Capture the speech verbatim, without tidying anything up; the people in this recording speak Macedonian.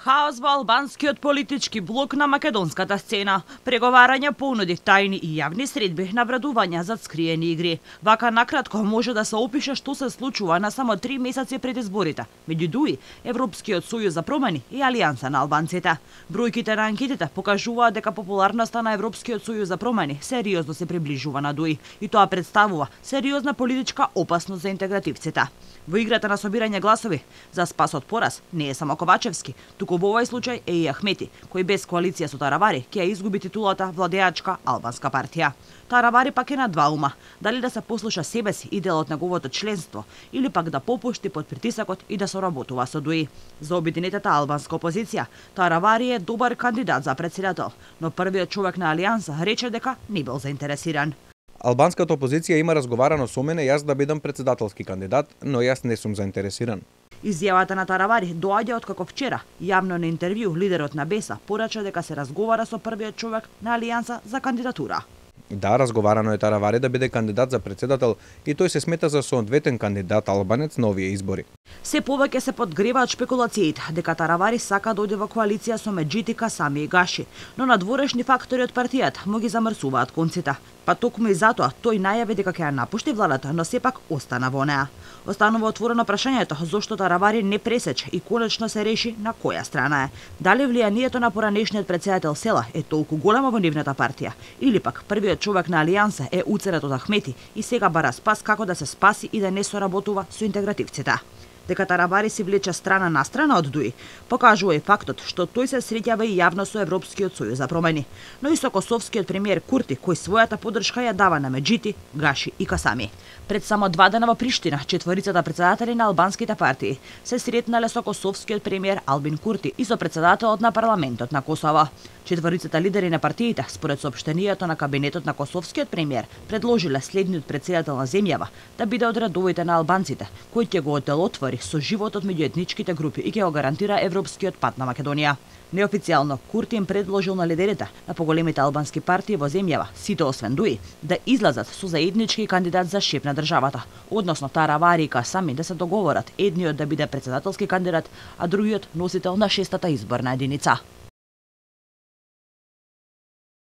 Хаос во албанскиот политички блок на македонската сцена. Преговарања, понуди, тајни и јавни средби, навредувања за скриени игри. Вака накратко може да се опише што се случува на само три месеци пред изборите меѓу ДУИ, Европскиот сојуз за промени и Алијанса на албанците. Бројките на анкетите покажуваат дека популарноста на Европскиот сојуз за промени сериозно се приближува на ДУИ и тоа представува сериозна политичка опасност за интегративците. Во играта на собирање гласови за спас од пораз не е само Ковачевски, туку во овој случај е и Ахмети, кој без коалиција со Таравари ќе ја изгуби титулата владеачка албанска партија. Таравари пак е на два ума, дали да се послуша себе си и дел од неговото членство, или пак да попушти под притисакот и да соработува со ДУИ. За обединетата албанска опозиција, Таравари е добар кандидат за председател, но првиот човек на Алијанса рече дека не бил заинтересиран. Албанската опозиција има разговарано со мене јас да бидам председателски кандидат, но јас не сум заинтересиран. Изјавата на Таравари доаѓа од како вчера, јавно на интервју, лидерот на Беса порача дека се разговара со првиот човек на Алијанса за кандидатура. Да, разговарано е Таравари да биде кандидат за председател и тој се смета за соодветен кандидат албанец на овие избори. Се повеќе се подгреваат шпекулациите дека Таравари сака да оди во коалиција со Меджити, Касами и Гаши, но надворешни фактори од партијата му ги замрсуваат конците. Па токму и затоа тој најави дека ќе ја напушти владата, но сепак остана во неа. Останува отворено прашањето зошто Таравари не пресече и конечно се реши на која страна е. Дали влијанието на поранешниот председател Села е толку големо во нивната партија, или пак првиот човек на Алијанса е уценет од Ахмети и сега бара спас како да се спаси и да не соработува со интегративците. Дека Таравари си влече страна на страна од ДУИ, покажува и фактот што тој се среќава и јавно со Европскиот сојуз за промени, но и со косовскиот премиер Курти, кој својата поддршка ја дава на Меджити, Гаши и Касами. Пред само два дена во Приштина, четворицата председатели на албанските партии се сретнале со косовскиот премиер Албин Курти и со председателот на парламентот на Косово. Четворицата лидери на партиите, според соопштението на кабинетот на косовскиот премиер, предложиле следниот председател на земјава да биде од редовите на албанците, кој ќе го оделотвори со животот меѓу етничките групи и ќе го гарантира европскиот пат на Македонија. Неофицијално, Курти им предложил на лидерите на поголемите албански партии во земјава, сите освен ДУИ, да излазат со заеднички кандидат за шеф на државата, односно Таравари и Касами да се договорат едниот да биде председателски кандидат, а другиот носител на шестата изборна единица.